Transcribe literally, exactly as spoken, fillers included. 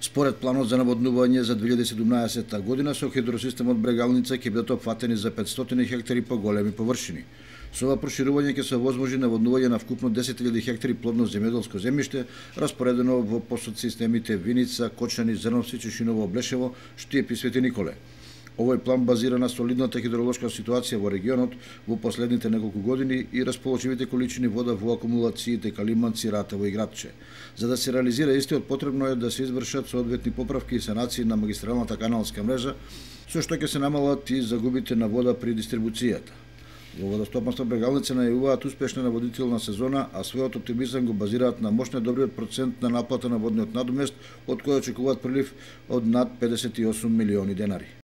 Според планот за наводнување за две илјади и седумнаесетта година со хидросистемот Брегалница ќе бидат опфатени за петстотини хектари поголеми површини. Со ова проширување ќе се овозможи наводнување на вкупно десет илјади хектари плодно земјоделско земјиште, распоредено во подсистемите Виница, Кочани, Зрновци, Чешиново, Блешево, Штиеп и Свети Николе. Овој план базира на солидната хидролошка ситуација во регионот во последните неколку години и расположивите количини вода во акумулациите Калиманци, Ратево и Градче. За да се реализира истиот, потребно е да се извршат соодветни поправки и санации на магистралната каналска мрежа, со што ќе се намалат и загубите на вода при дистрибуцијата. Во водостопанство Брегалница најавуваат успешна наводнителна сезона, а својот оптимизам го базираат на мощно добриот процент на наплата на водниот надомест, од кој очекуваат прилив од над педесет и осум милиони денари.